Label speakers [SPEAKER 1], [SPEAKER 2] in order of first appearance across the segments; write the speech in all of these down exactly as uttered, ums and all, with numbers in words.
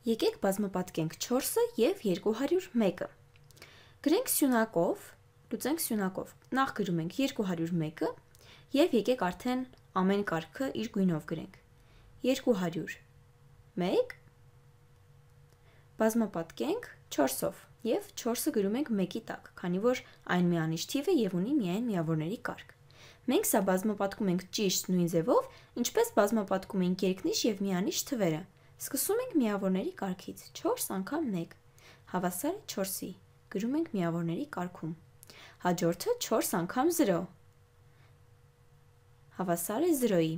[SPEAKER 1] Եկեք բազմապատկենք չորսը և երկու հարյուր մեկը։ Գրենք սյունակով, լուծենք սյունակով։ Նախ գրում ենք երկու հարյուր մեկը և եկեք արդեն ամեն կարգը իր գույնով գրենք։ երկու հարյուր մեկ բազմապատկենք չորսով և չորսը գրում ենք մեկի տակ, քանի որ այն միանիշ թիվ է և ունի միայն միավորների կարգ։ Մենք սա բազմապատկում ենք ճիշտ նույն ձևով, ինչպես բազմապատկում ենք երկնիշ և միանիշ թվերը։ Սկսում ենք միավորների կարգից, չորս անգամ մեկ, հավասար է չորսի, գրում ենք միավորների կարգում։ Հաջորդը չորս անգամ զրո, հավասար է զրոյի։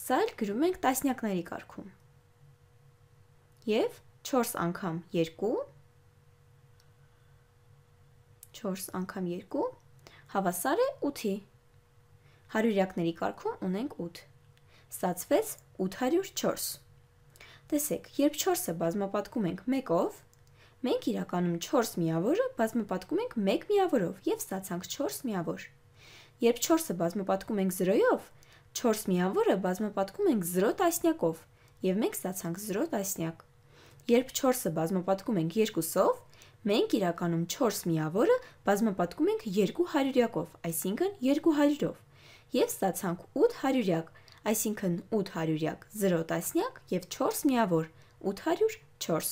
[SPEAKER 1] Սա էլ գրում ենք տասնյակների կարգում։ Եվ չորս անգամ երկու, չորս անգամ երկու, հավասար է ութի։ Հարյուրյակների կարգում ունենք ութ։ Ստացվեց ութ հարյուր չորս։ Տեսեք, երբ չորսը բազմապատկում ենք մեկով, մենք իրականում չորս միավորը բազմապատկում ենք մեկ միավորով և ստացանք չորս միավոր։ Երբ չորսը բազմապատկում ենք զրոյով, չորս միավորը բազմապատկում ենք զրո տասնյակով և մենք ստացանք զրո տասնյակ։ Երբ չորսը բազմապատկում ենք երկուսով, մենք իրականում չորս միավորը բազմապատկում ենք երկու հարյուրյակով, այսինքն երկու հարյուրով և ստացանք ութ հարյուրյակ, այսինքն ութ հարյուրյակ, զրո տասնյակ և չորս միավոր, ութ հարյուր չորս։